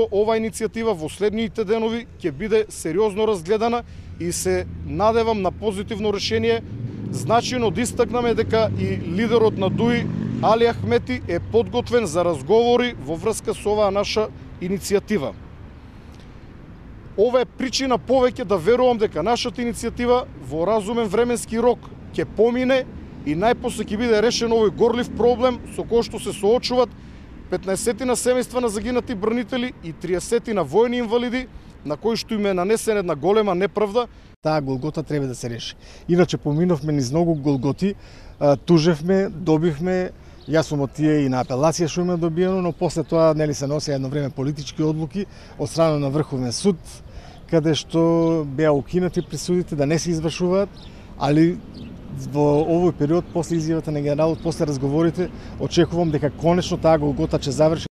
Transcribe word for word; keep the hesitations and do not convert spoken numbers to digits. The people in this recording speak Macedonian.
Ова иницијатива во следните денови ќе биде сериозно разгледана и се надевам на позитивно решение. Значајно да истакнеме дека и лидерот на ДУИ Али Ахмети е подготвен за разговори во врска со оваа наша иницијатива. Ова е причина повеќе да верувам дека нашата иницијатива во разумен временски рок ќе помине и најпосле ќе биде решен овој горлив проблем со кој што се соочуваат петнаесет семејства на загинати бранители и триесет на војни инвалиди, на кои што им е нанесена една голема неправда. Таа голгота треба да се реши. Иначе поминовме низ многу голготи, тужевме, добивме, јас сум од тие и на апелација што има добиено, но после тоа нели се носи едно време политички одлуки од страна на Врховен суд, каде што беа укинати присудите да не се извршуваат, али во овој период, после изјавата на генералот, после разговорите, очекувам дека конечно таа голгота ќе заврши.